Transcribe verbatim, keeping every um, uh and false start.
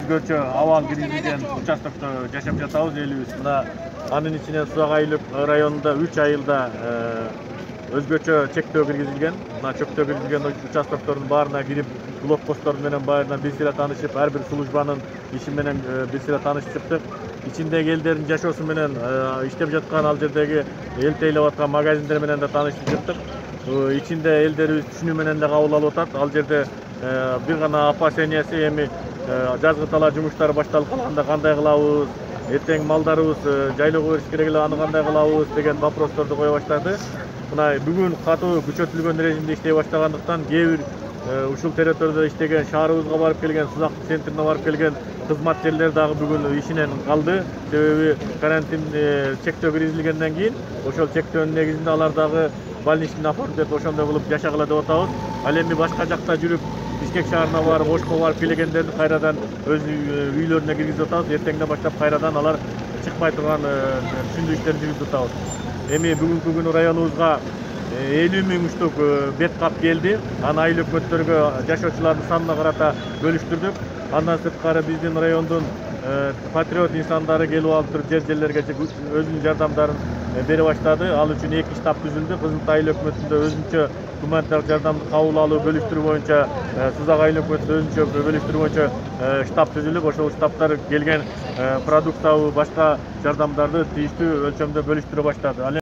Өзгөчө абал киргизилген участокто жашап жатабыз элибиз. Мына анын ичинен Сузак айылдык районунда үч айылда өзгөчө чектөө киргизилген. Мына чектөө киргизилген участоктордун баарына кирип, блокпосттор менен баарына бир сыйра таанышып, ар бир службанын иши менен бир сыйра таанышып чыктык. Ичиндеги элдердин жашоосу менен иштеп жаткан ал жердеги эл тейлеп аткан магазиндер менен да таанышып чыктык. Ичинде элдерибиз түшүнүү менен да кабыл алып атат. Ал жерде бир гана опасениясы эми жазгы талаа жумуштары башталып калганда кандай кылабыз, эртең малдарыбыз жайлоого бериш керек эле, аны кандай кылабыз деген вопросторду кое баштады. Мына бүгүн катуу күчөтүлгөн режимде иштей баштагандыктан кээ бир ушул территорияда иштеген, шаарыбызга барып келген, Сузак центрине барып келген кызматкерлер дагы бүгүн ишинен калды. Себеби карантин чектөө киргизилгенден кийин ошол чектөөнүн негизинде алар дагы больничный оформить деп ошондой кылып жашагыла деп атабыз. Ал эми башка жакта жүрүп Бишкек шаарына барып, Ошко барып келгендерди кайрадан өз үйлөрүнө киргизип атабыз. Эртеңден баштап кайрадан алар чыкпай турган түшүндүрүү иштерин жүргүзүп атабыз. Эми бүгүнкү күнү районубузга элүү миң уштук бет кап келди. Аны айыл өкмөттөргө жашоочулардын санына карата бөлүштүрдүк. Андан сырткары биздин райондун патриот инсандары келип алып туруп жер жерлерге өзүнүн жардамдарын бере баштады. Ал үчүн эки штаб түзүлдү. Кызылтай айыл өкмөтүндө өзүнчө гуманитардык жардамды кабыл алуу бөлүштүрүү боюнча, Сузак айыл өкмөтүндө өзүнчө бөлүштүрүү боюнча штаб түзүлүп, ошол штабтар келген продуктабы башка жардамдарды тийиштүү өлчөмдө бөлүштүрө баштады.